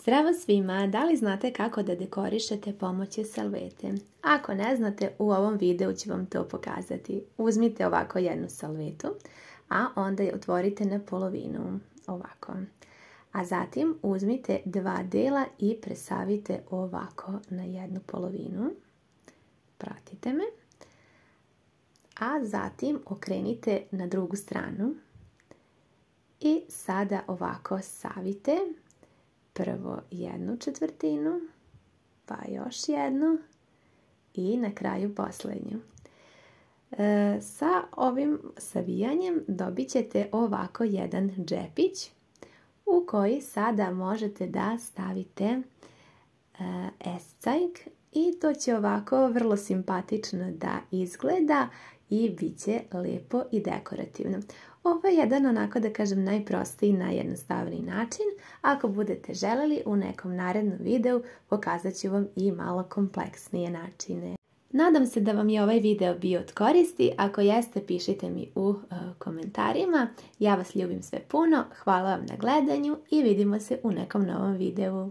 Zdravo svima! Da li znate kako da dekorišete pomoću salvete? Ako ne znate, u ovom videu ću vam to pokazati. Uzmite ovako jednu salvetu, a onda je otvorite na polovinu, ovako. A zatim uzmite dva dela i presavite ovako na jednu polovinu. Pratite me. A zatim okrenite na drugu stranu. I sada ovako savite. Prvo jednu četvrtinu, pa još jednu i na kraju posljednju. Sa ovim savijanjem dobit ćete ovako jedan džepić u koji sada možete da stavite escajk i to će ovako vrlo simpatično da izgleda i bit će lijepo i dekorativno. Ovo je jedan onako da kažem najprostiji, najjednostavniji način. Ako budete želeli u nekom narednom videu pokazat ću vam i malo kompleksnije načine. Nadam se da vam je ovaj video bio od koristi. Ako jeste, pišite mi u komentarima. Ja vas ljubim sve puno, hvala vam na gledanju i vidimo se u nekom novom videu.